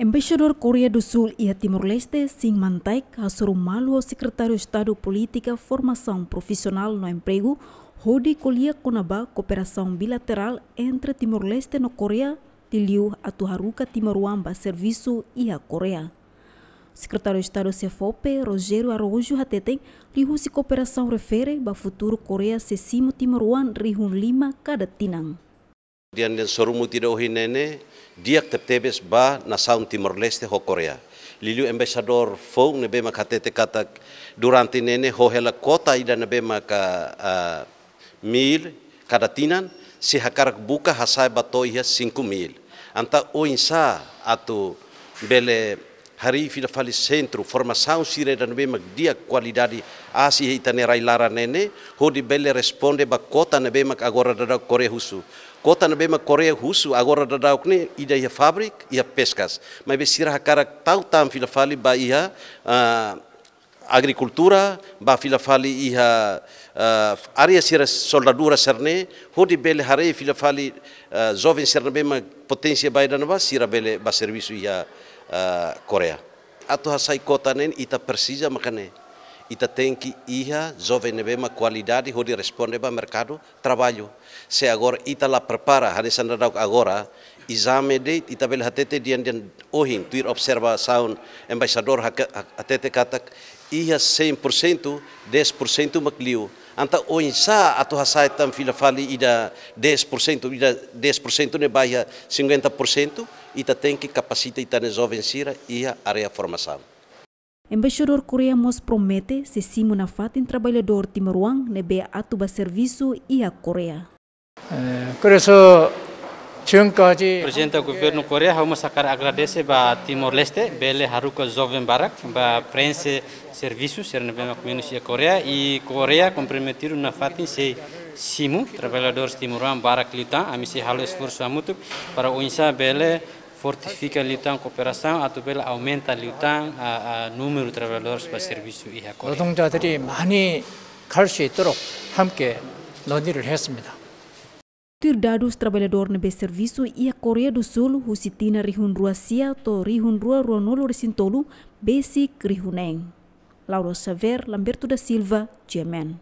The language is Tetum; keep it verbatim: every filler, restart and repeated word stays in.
Embaixadór Koreia do Sul iha Timor-Leste, Shin Man-taek, hasoru malu ho Sekretáriu Estadu Polítika, Formasaun Profisionál no Empregu, hodi ko'alia kona-ba kooperasaun bilaterál entre Timor-Leste no Koreia, liuliu atu haruka timoroan ba servisu iha Koreia. Sekretáriu Estadu SEFOPE, Rogério Araújo, hateten, liuhusi kooperasaun refere ba futuru Koreia sei simu timoroan rihun lima kada tinan. Di'ak, di'ak, sorumutu ida ohin ne'e ne'e di'ak tebetebes ba nasaun Timor-Leste ho Koreia. Liuliu embaixadór foun ne'ebé mak hatete katak durante ne'e ne'e ho hela kuota ida ne'ebé maka, ah, mil kada tinan, sei hakarak buka hasa'e ba to'o iha cinco mil. Entaun oinsá atu bele harii fila fali sentru formasaun sira ida ne'ebé mak di'ak, kualidade aas iha ita-nia rai-laran ne'e ne'e, hodi bele responde ba kuota ne'ebé mak agora daudaun Koreia husu. Kuota ne'ebé mak Koreia husu agora daudaun ne'e ida iha fábrika, iha peskas. Maibé sira hakarak tau tan fila fali ba iha, ah, agrikultura, ba fila fali iha, ah, área sira soldadura sira-ne'e, hodi bele haree fila fali, ah, joven sira ne'ebé mak poténsia ba ida-ne'ebá, sira bele ba servisu iha, ah, Koreia. Atu hasai kuota ne'e ita presiza maka ne'e. Ita tenke iha joven ne'ebé mak kualidade hodi responde ba merkadu traballu. Se agora ita la prepara, hanesan daudaun agora, ezame de'it, ita bele hatete di'ak, di'ak, ohin, tuir observasaun embaixadór haka-, ha-, hatete katak iha cem por cento, dez por cento mak liu. Entaun oinsá atu hasai tan fila fali ida dez por cento, ida dez por cento ne'e ba iha cinquenta por cento, ita tenke kapasita ita-nia joven sira iha área formasaun. Embaixadór Koreia mós promete sei simu nafatin traballadór timoroan ne'ebé atu ba servisu iha Koreia. 에, 그래서 지금까지 Prezidente Governu Koreia, ha'u mós hakarak agradese ba Timor-Leste, bele haruka joven barak ba preenxe servisu sira ne'ebé mak menus iha Koreia, i Koreia komprometidu nafatin sei simu traballadores timoroan barak liután, ami sei halo esforsu hamutuk para oinsá bele fortifika liután kooperasaun, atu bele aumenta liután, a, a, númeru traballadores ba servisu iha Koreia. 노동자들이 많이 갈 수 있도록 함께 논의를 했습니다. Tuir dadus, traballadór ne'ebé servisu iha Koreia do Sul husi tinan rihun rua sia to'o rihun rua ruanulu resin tolu besik rihun neen. Laura Xavier, Lamberto da Silva, G M N.